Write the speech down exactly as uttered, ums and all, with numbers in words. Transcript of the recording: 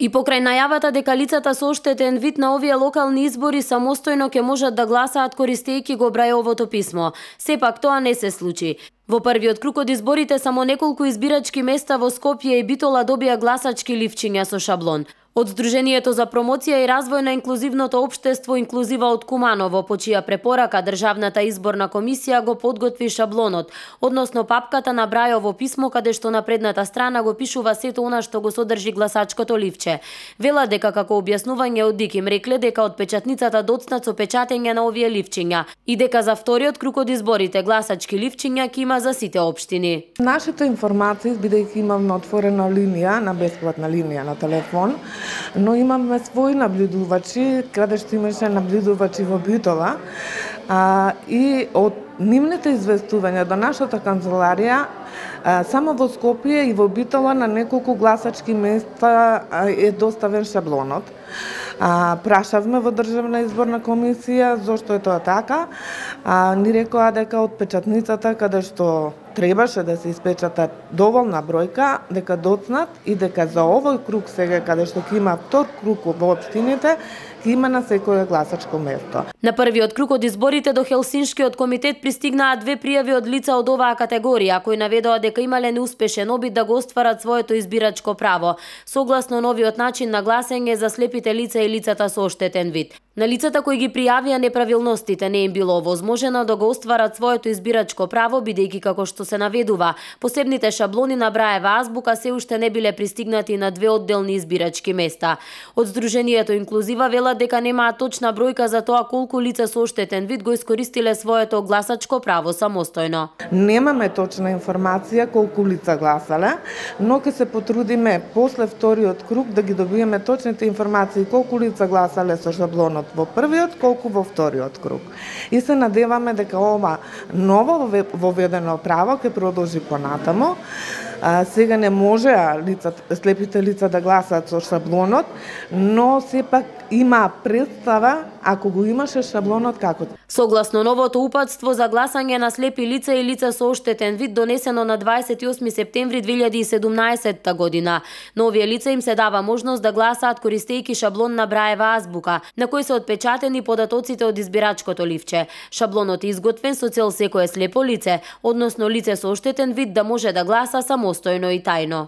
И покрај најавата дека лицата со оштетен вид на овие локални избори самостојно ќе можат да гласаат користејќи го Брајовото писмо, сепак тоа не се случи. Во првиот круг од изборите само неколку избирачки места во Скопје и Битола добија гласачки ливчиња со шаблон. Од Сдруженијето за промоција и развој на инклузивното општество Инклузива од Куманово, по чија препорака Државната изборна комисија го подготви шаблонот, односно папката на Брајово писмо каде што на предната страна го пишува сето она што го содржи гласачкото ливче. Вела дека како објаснување од ДИК им рекле дека од печатницата доцнат со печатење на овие ливчиња и дека за вториот круг од изборите гласачки ливчиња ќе има за сите општини. Нашите информации, бидејќи имаме отворена линија, на бесплатна линија на телефон, но имаме своји наблюдувачи, каде што имаше наблюдувачи во Битола, а, и од нивните известувања до нашата канцеларија, а, само во Скопје и во Битола на неколку гласачки места е доставен шаблонот. А, прашавме во Државна изборна комисија зошто е тоа така. А, ни рекоа дека од печатницата каде што требаше да се испечатат доволна бројка, дека доцнат и дека за овој круг сега каде што ќе има втор круг во општините, ќе има на секое гласачко место. На првиот круг од изборите до Хелсиншкиот комитет пристигнаа две пријави од лица од оваа категорија, кои наведоа дека имале неуспешен обид да го остварат своето избирачко право, согласно новиот начин на гласење за слепите лица и лицата со оштетен вид. На лицата кои ги пријавија неправилностите не им било овозможено да го остварат своето избирачко право, бидејќи како што се наведува, посебните шаблони на Браева азбука се уште не биле пристигнати на две одделни избирачки места. Од Сдруженијето Инклузива велат дека немаат точна бројка за тоа колку лица со оштетен вид го искористиле своето гласачко право самостојно. Немаме точна информација колку лица гласале, но ќе се потрудиме после вториот круг да ги добиеме точните информации колку лица гласале со шаблонот во првиот, колку во вториот круг. И се надеваме дека ова ново воведено право ќе продолжи понатаму. А, сега не може лица, слепите лица да гласат со шаблонот, но сепак има представа ако го имаше шаблонот како. Согласно новото упатство за гласање на слепи лица и лица со оштетен вид донесено на дваесет и осми септември две илјади и седумнаесетта година, на овие лица им се дава можност да гласаат користејќи шаблон на Браева азбука, на кој се отпечатени податоците од избирачкото ливче. Шаблонот е изготвен со цел секое слепо лице, односно лице со оштетен вид да може да гласа самостојно и тајно.